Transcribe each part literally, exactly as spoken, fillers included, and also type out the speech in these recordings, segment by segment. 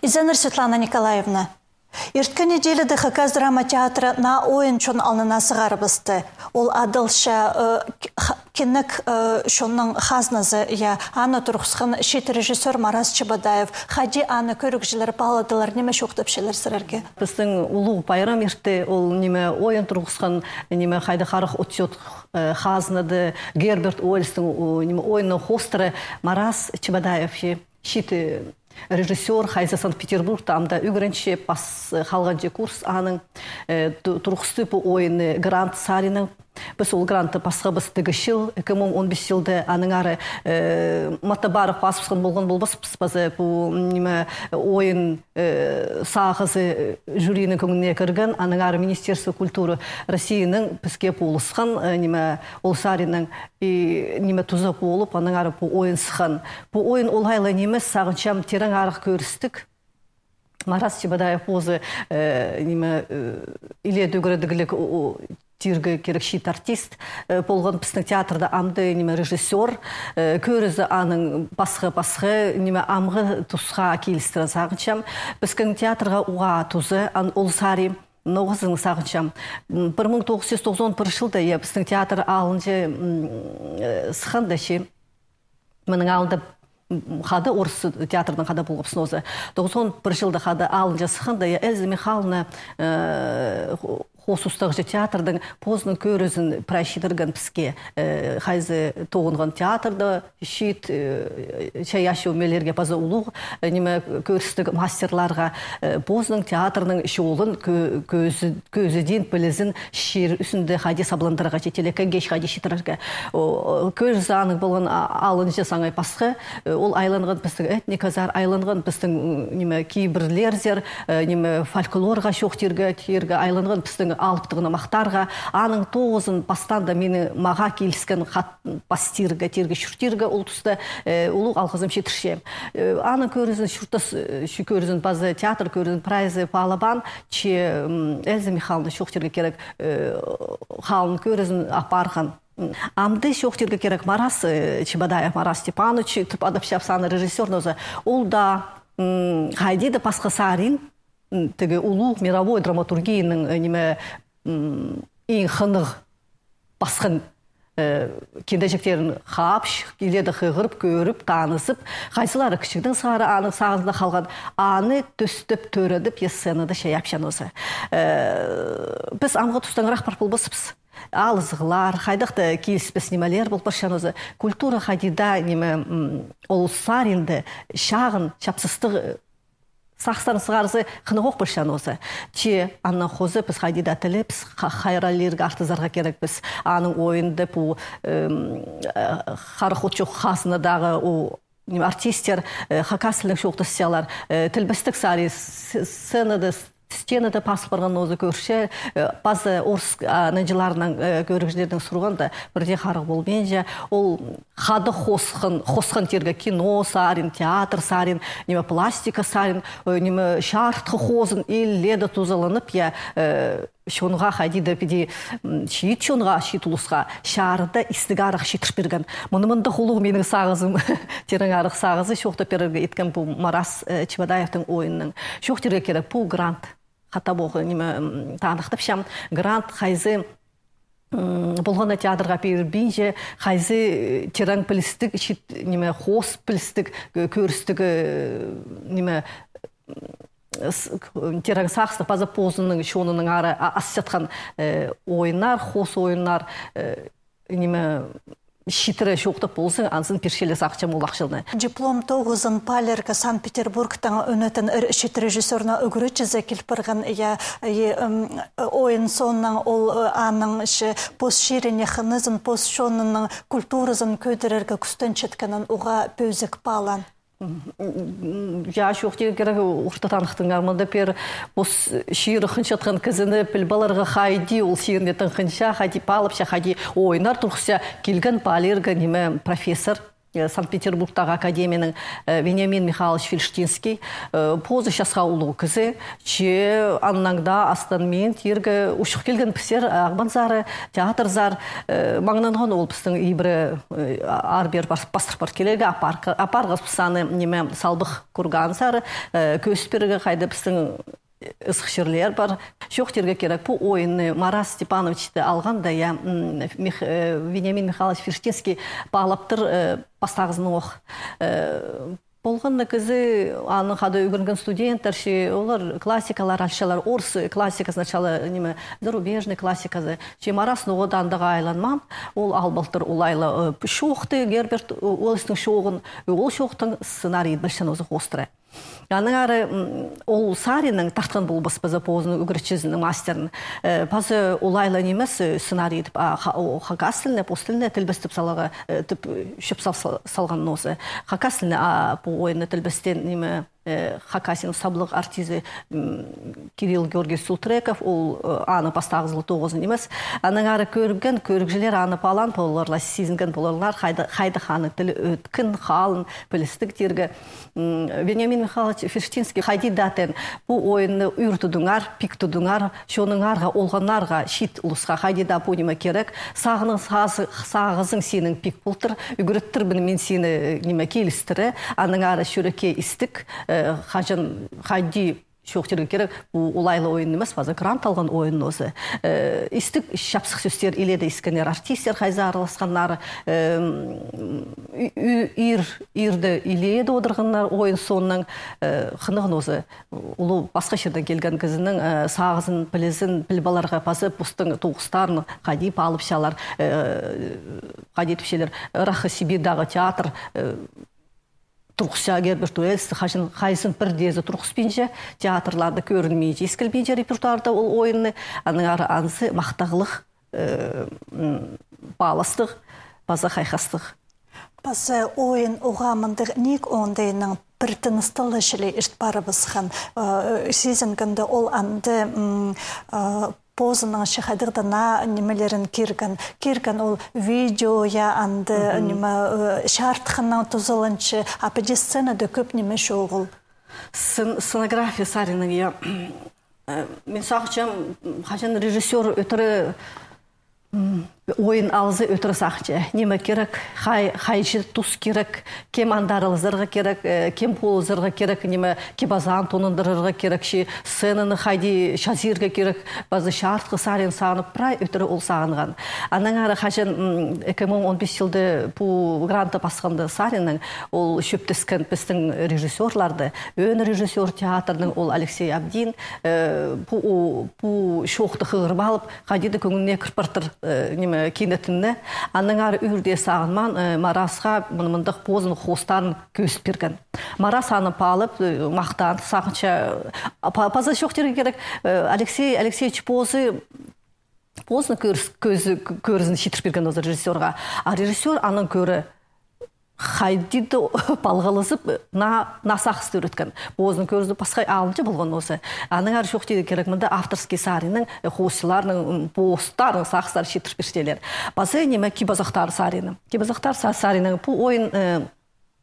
Изеннер, Светлана Николаевна. Ирткен неделяда Хакас драма театры наа ойын чон алнына сығарыбысты. Ол адалча, э, к-, х-, кинек, э, чонның хазназы, я, аны турғысхан чиит режиссёр Марас Чебодаев. Хайди аны кӧрігҷілер паладылар, ниме чоохтапчалар сірерге? Пістің улуғ пайрам иртті, ол ниме ойын турғысхан, ниме хайда харах отчёт, э, хазнада Герберт Уэллстің, о, ниме ойынның хоостыра Марас Чебодаев, че чиит, э, режиссёр, хайзы Санкт-Петербургта амды ӱгренче, пас, э, халғанҷы курс аның, э, ту-, турғысты пу ойынны грант саринаң. Піс ол грантты пасхабыс тігі чыл, ікі муң он пис чылда, аның ары, э, матап ары пазыбысхан полған полбаспыс, паза пу, м, ниме, ойын, э, сағызы, э, жюриның кӧңніне кірген, аның ары Министерство культуры Россияның піске полысхан, э, ниме, ол саринаң, и ниме туза полып, анаң ары пу ойын сыххан. Пу ойын олай ла нимес, сағынчам, тирең арах кӧрістіг. Марас Чебодаев позы, э, ниме, э, илееде ӱгредігліг, о, о, тирге кирек чиит артист, э, полған пістің театрда, амды ниме режиссёр, э, кӧрізі аның пасха-пасха, ниме амғы тусха килістіре, сағынчам. Пістің театрға уғаа туза, ан ол сари. Ноғызын сағынчам. М, пір муң тоғыс чӱс тоғызон пір чылда, я, пістің театр алынҷа, м, э, сыхханда чи. Мының алнында, м, хада орыс театрның хада полғабыс нооза. Тоғызон пір чылда хада алынҷа сыхханда, я, Эльза Михайловна, э, хо-, хоос устағҷы театрның позының кӧрізін прай читірген піске, э, хайзы тоғынған театрда, чиит, э, чайаачы ӧмелерге паза улуғ, э, ниме, кӧрістіг мастерларға, э, позының театрның чолын кӧ-, кӧзі-, кӧзідиин пілізін чир ӱзінде хайди сабландырарға, че телекейге хайди читірерге. О, о, кӧзі аның полған а-, алынҷа саңай пасха, э, ол айланған пістің этниказар, айланған пістің, м, ниме, кибірлерзер, э, ниме, фольклорға чоохтирға, тирге, айланған пістің алыптығ нымахтарға. Аның тоғызын пастаң даа минің, мағаа киліскен хат пас тирге, тирге, чуртирға ол туста, э, улуғ алғызым читірчем. Э, аның кӧрізін чуртас, э, чу-, кӧрізін паза, театр кӧрізін прайзы паалабаан, че, м, Эльза Михайловна чоохтирға кирек, э, халын кӧрізін апарған. М, амды чоохтирға кирек Марас, э, Чебодаев Марас Степанович, тіп адапчабыс аны, режиссёр нооза. Ол даа, м, хайди даа пасха сарин, м, тігі улуғ мировой драматургияның, э, ниме, м, иң хынығ пасхан, э, киндеҷектерін хапча, илееде хығырып, кӧріп, танызып, хайзылары кічігдең сығара аның сағызында халған, аны тӧстеп, тӧредіп, я, сценада чайапча нооза. Э, піс амғы тустаңыраах пар полбаспыс. Алызығлар, хайдағ-да киліспес нимелер пол парча нооза. Культура хайди даа, ниме, м, ол саринда чағын чапсыстығ, э, сағыстарын сығарза, хынығ ох полча нооза. Че аннаң хоза піс хайди даа тілебіс, ха-, хайраллирға, артызарға кирекпіс. Аның ойында пу, эм, э, харах отчох хазнадағы, о, ниме, артисттер, э, хакас тілінең чоохтасчалар, э, тілбестіг сари с-, сценада, с-, стенада пазыл парған нооза кӧрче, э, паза орыс, а, нанҷыларның, э, кӧрігҷілернең сурғанда, пірдее харығ полбинча, ол хада хосхан, хосхан тирге кино сарин, театр сарин, ниме, пластика сарин, э, ниме, чарытхы хозын илееде тузаланып, я, э, чонға хайди даа піди, м, чиит чонға, чиит улусха чарыда истіг арах читір пирген. Мыны мындағ улуғ минің сағызым, тирең арах сағызы, чоохтап пирерге иткем пу Марас, э, Чебодаевтің ойынның. Чоохтирға кирек, пу грант. Хатап ох, ниме, м, таныхтапчам. Грант хайзы, м, полған на театрға пирілбинче, хайзы, э, тирең пілістіг, чиит, ниме, хоос пілістіг, э, кӧрістіг, э, ниме, с-, к-, тирең сағыстығ паза позының чонының ары а-, асчатхан, э, ойыннар, хоос ойыннар, э, ниме, читіре чоохтап ползаң, анзын пирчелер, сағынчам, ол ахчалны. Диплом тоғызын паалирға Санкт-Петербургтаң ӧнетін ір чиит режиссёрның ӱгретчізі кил парған, я, и, м, ойын соонаң ол, э, аның че пос чиріне хынызын, пос чонының культуразын кӧдірерге кӱстенчеткенін уғаа пӧзік паалаан. М, я, чоохтирға кирек, орта таныхтыңар, мында пір пос чирі хынчатхан кізіні піліп аларға, хайди ол чиріне тың хынча, хайди паалапча, хайди ойыннар турғысча, килген паалирға, ниме, профессор, э, Санкт-Петербургтағы академияның, э, Вениамин Михайлович Фельштинский, э, позы часха улуғ кізі, че аннаң даа астан мин тирге учух килген пісер, Ағбанзар, театрзар, э, маңнанған ол пістің ибіре, э, аар-пеер пас-, пастырып пар килерге, апар-, апарғабыс аны, ниме, салбых курганзар, э, кӧзіт пирерге, хайда пістің ызых чирлер пар. Чоохтирға кирек, пу ойынны Марас Степановичті алғанда, я, м, Мих-, э, Вениамин Михайлович Фельштинский паалаптыр, э, пастағызын ох. Э, полған на кізі, аның хада ӱгренген студенттер, че олар классикалар алчалар, орыс классика сначала, ниме, зарубежный классиказы, че Марас ноға даа андағ айланмаан, ол албалтыр олайлы, э, чоохты, Герберт, э, Уэллстің чооғын, э, ол чоохтың сценарийі пілче оза хоостыра. Анаң ары, м, ол саринаң тартхан полбас паза позының ӱгретчізінің, мастерін. Э, паза олайлы нимес, э, сценарий идіп, а, ха-, о, хакас тіліне, пос тіліне тілбестеп саларға, э, тіп, э, чӧп сал-, сал-, салған нооза. Хакас тіліне, а, пу ойынны тілбестеен ниме, э, Хакасияның саблығ артизі, м, Кирилл Георгиевич Султреков, ол, э, аны пастағызы ла тоғызын нимес. Анаң ары кӧрген, кӧрігҷілер аны паалаан поларлар, сизінген поларлар, хайда-, хайдағ аның тілі ӧткін, халын, пілістіг тирге. М, Вениамин Михайлович Фельштинский хайди даа теен, пу ойынны ӱр тудыңар, пик тудыңар, чоныңарға, олғаннарға, чиит улусха хайди даа пу ниме кирек, сағының сазы-, сағызың синің пик полтыр, ӱгреттірбін мин сині, ниме, килістіре, анаң ары чӱрекке истік, э, хаҷан хайди чоохтирға кирек, пу олайлы ойын нимес, паза грант алған ойын оза. Э, истік чапсых сӧстер иледе искеннер артисттер, хайзы араласханнар, э, м, ӱ-, ӱ-, ир, ирде иледе одырғаннар ойын сооннаң, э, хынығ нооза. Улуғ пасха чирдең килген кізінің, э, сағызын, пілізін піліп аларға, паза постың тоғыстарын хайди паалапчалар, э, хайди тіпчелер, ырах Сибирьдегі театр, э, турғысча Герберт Уэллсті, хаҷан хайзын пірдеезі турғыспинча, театрларда кӧрінминче, искілбинче репертуарда ол ойынны, анаң ары анзы махтағлығ, э, м, пааластығ, паза хайхастығ. Паза ойын уғаа мындағ ниик оңдайнаң пір тыныстығ ла чіли ирт парыбысхан, э, сизінгенде ол анда, м, э, позының че хайдағ даа наа нимелерін кирген. Кирген ол видео, я, анда, ниме, э, чарытхынаң тузаланча, а піди сценада кӧп ниме чоғыл. Сцен-, сценография саринаң, я, э, мин сағынчам, хаҷан режиссёр ӧтіре, м, ойын алза, ӧтіре сағынча. Ниме кирек, хай-, хайҷы тус кирек, кем анда аралазарға кирек, э, кем полызарға кирек, ниме, кип-азаан тонындырарға кирек, че сценаны хайди чазирға кирек, паза чарытхы сарин сағынып, прай ӧтіре ол сағынған. Анаң ары хаҷан, м, ікі муң он пис чылда пу грантты пасханда саринаң, ол чӧптескен пістің режиссёрларды, ӧӧн режиссёр театрның, ол Алексей Абдин, э, пу, у, пу чоохты хығырып алып, хайди даа кӧңніне кір партыр, э, ниме, кинетін. Анаң ары ӱр дее сағынмаан, э, Марасха мын-, мындағ позының хоостарын кӧзіт пирген. Марас аны паалап, э, махтаан, сағынча, а, па-, паза чоохтирға кирек, э, Алексей Алексеевич позы, позының кӧріс-, кӧзі-, кӧрізін читір пирген оза режиссёрға. А режиссёр анаң кӧрі хайди даа палғалызып, наа, наа сағысты ӱреткен. Позының кӧрізі пасха алынҷа полған оза. Анаң ары чоохтирға кирек, мында авторский саринаң, э, хоосчыларның, м, постарының сағыстарын читір пирчелер. Паза ниме, кип-азахтар саринаң. Кип-азахтар са-, саринаң пу ойын, э,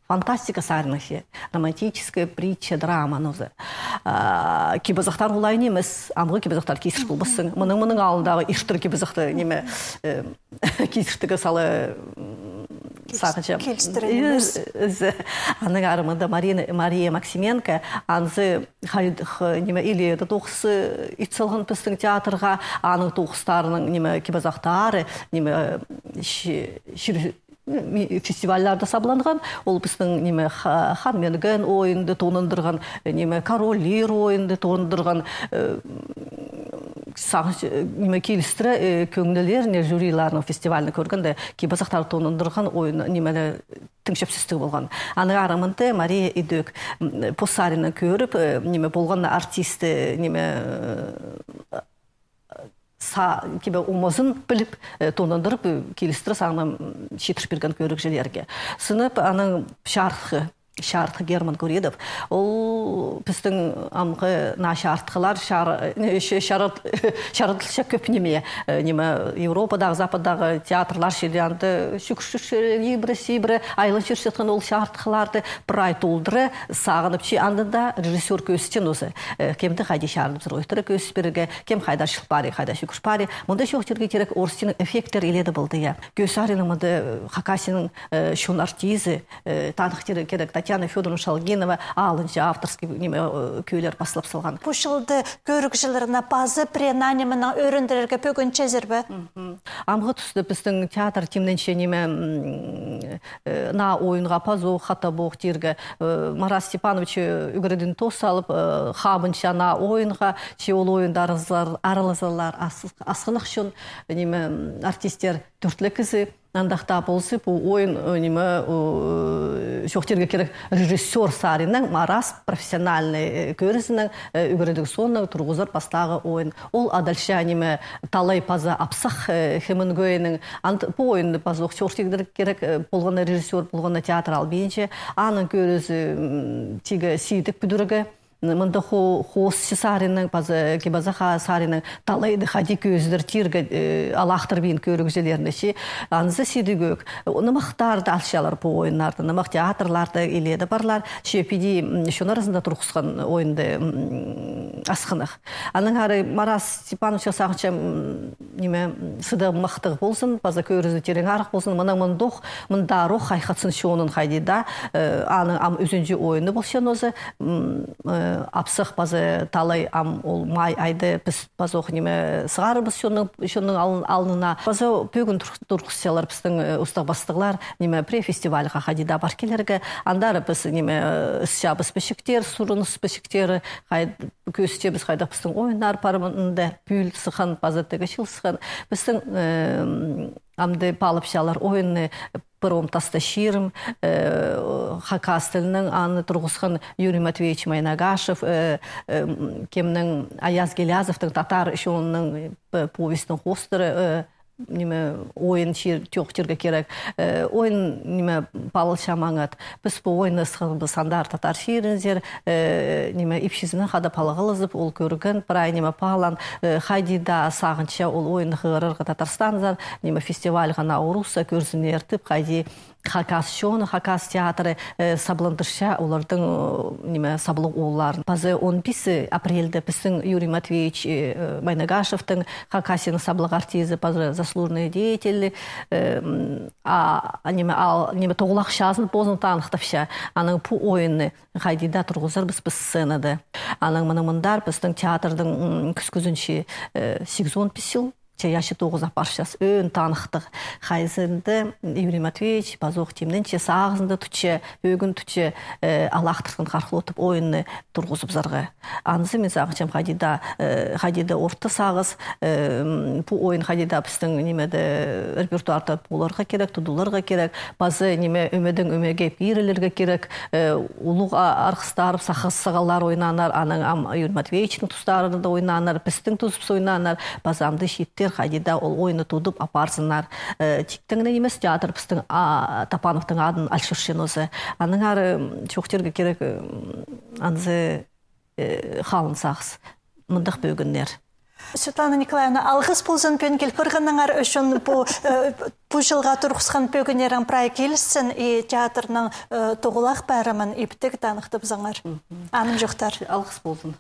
фантастика саринаң че, романтическая притча, драма нооза. А, кип-азахтар олай нимес, амғы кип-азахтар кизір полбассың. Мының, мының алнындағы иртір кип-азахты, ниме, э, кизіртігі сала, м, сағынчам. Килістіре нимес. Э, э, анаң ары мында Марина, Мария Максименко, анзы хай-, х-, ниме, илееде тоғыс, э, ит салған пістің театрға, аның тоғыстарының, ниме, кип-азахтары, ниме, э, чи-, чир-, ми-, фестивальларда сабланған, ол пістің, ниме, ха-, Хан Мӧңген ойынды тонындырған, ниме, Король Лир ойынды тонындырған, э, сағынч-, э, ниме, килістіре, э, кӧңнілеріне жюриларның фестивальны кӧргенде, кип-азахтар тонындырған ойын, ниме, тың чӧпсістіг полған. Аның ары мында Мария идӧк, м, пос саринаң кӧріп, э, ниме, полған артисті, ниме, э, са-, кибе омазын піліп, э, тонындырып, э, килістіре саңнам, м, читір пирген кӧрігҷілерге. Сынап, аның чархы, чарытхы Герман Куридов. Ол пістің амғы наа чарытхылар, чар-, не, ча-, чарыт-, чарыдылча кӧп ниме, э, ниме, Европадағы, Западтағы театрлар чіли анда чӱгӱрче, ибіре-сибіре айланчатхан ол чарытхыларны прай толдыра сағынып чи, анда даа режиссёр кӧзітчең оза, э, кемді хайди чарыдыбызар, ойттыра кӧзіт пирерге, кем хайдар чыл пари, хайдар чӱгӱр пари. Мында чоохтирға кирек, орыс тілінең эффекттер илееде полды, я. Кӧзідерге мында, э, Хакасияның, э, чон артизі, э, таныхтирға кирек, Татьяна Фёдоровна Шалгинова алынҷа авторский, ниме, э, кӧлер паслап салған. Пу чылда кӧрігҷілерні паза пірее наа нимені ӧріндірерге пӧгінчезер бе? Мгм. Амғы туста пістің театр тимненче ниме, м, э, наа ойынға пазох, хатабох тирге, э, Марат Степанович, э, ӱгредін тос салып, э, хабынча наа ойынға, че ол ойында аралазар-, аралазарлар ас-, асхынах чон, ниме, м, артисттер тӧрт ле кізі. Андағ даа полза, пу ойын, э, ниме, э, чоохтирға кирек, режиссёр саринаң, Марат профессиональный, э, кӧрізінең, э, ӱгредіг соонаң турғызар пастағы ойын. Ол адалча ниме, талай паза апсах, э, Хемингуэйнің. Анд-, пу ойынны пазох чоохтирға кирек, э, полған на режиссёр, полған на театр албинча. Аның кӧрізі, м, тигі сидік пӱдірігі. Мында хо-, хоосчы саринаң, паза кип-азах саринаң талайды хайди кӧзідер тирге, э, алахтырбин кӧрігҷілерні чи. Анзы сидік ӧк. Нымахтарда алчалар пу ойыннарны, нымах театрларда илееде парлар. Че піди, м, чон аразында турғысхан ойынды, м, асхынах. Анаң ары Марат Степановичке сағынчам, м, ниме, м, сыдығ махтығ ползын, паза кӧрізі тирең арах ползын, мынаң мындох, мындарох хайхатсын чонын хайди даа, э, аның ам ӱзінҷі ойыны полчаң оза, м, э, апсах паза талай ам ол май айда піс пазох ниме сығарарбыс чонның, чонның алын-, алнына. Паза пӧгін тур-, турғысчалар пістің, э, устағ-пастығлар, ниме, пірее фестивальға хайди даа пар килерге, андар піс, ниме, э, ысчабыс пічіктер, сурыныс пічіктері, хай-, кӧзітчебіс хайдағ пістің ойыннар пар мында, пӱӱл сыххан, паза тігі чыл сыххан. Пістің, э, амды паалапчалар ойынны «Пір ом таста чирім», э, хакас тілінең аны турғысхан Юрий Матвеевич Майнагашев, э, э, м, кемнің, Аяз Гилязовтың татар чонының, э, повестінің хоостыра, э, ниме, ойын чир-, чоохтирға кирек. Э, ойын, ниме, палалча маңат. Піс пу ойынны ысхабыс андар татар чирінзер, э, ниме, ипчізінең хада палғалызып, ол кӧрген, прай, ниме, палаан, э, хайди даа сағынча ол ойынны хығырарға Татарстанзар, ниме, фестивальға на орусса кӧрзіннер тіп, хайди хакас чоны, хакас театры, э, сабландырча олардың, э, ниме, саблығ оолларын. Паза он пис апрельде пістің Юрий Матвеевич, э, Майнагашевтің, Хакасияның саблығ артизі, паза заслуженный деятель, э, м, а, а, ниме, ал, ниме, тоғылах чазын позын таныхтапча. Анаң пу ойынны хайди даа турғызарбыс піс сценада. Анаң мынаң мындар пістің театрдың, м, кӱскӱзінче, э, сигізон пис чыл, чайаачы тоғыза парчас, ӧӧн таныхтығ. Хайзында Юрий Матвеевич пазох тимненче, сағызында тутча, пӧгін тутча, э, алахтырған хархлотып ойынны турғызыбызарға. Анзы мин сағынчам хайди даа, э, хайди даа орта сағыс, э, м, пу ойын хайди даа пістің нимеде, репертуарда поларға кирек, тудыларға кирек, паза ниме, ӧмедең ӧмеге пирілерге кирек, э, улуғ а-, арғыстарыбыс, сағаллар ойнааннар, анаң ам Юрий Матвеевичтің тустарында ойнааннар, пістің тузыбыс ойнааннар, паза амды чииттер хайди даа ол ойынны тудып апарзыннар. Э, тиктең нимес, театр пістің, а, Топановтың адын алчатчаң оза. Анаң ары, м, чоохтирға кирек, м, анзы, э, халын сағыс. Мындағ пӧгіннер. Светлана Николаевна, алғыс ползын пӱӱн кил парғаныңар ӱчӱн. Пу, э, пу чылға турғысхан пӧгіннерің прай килісче, и театрның, э, тоғылах пазымын иптіг таныхтабызыңар. Мгм. Анымҷохтар. Алғыс ползын.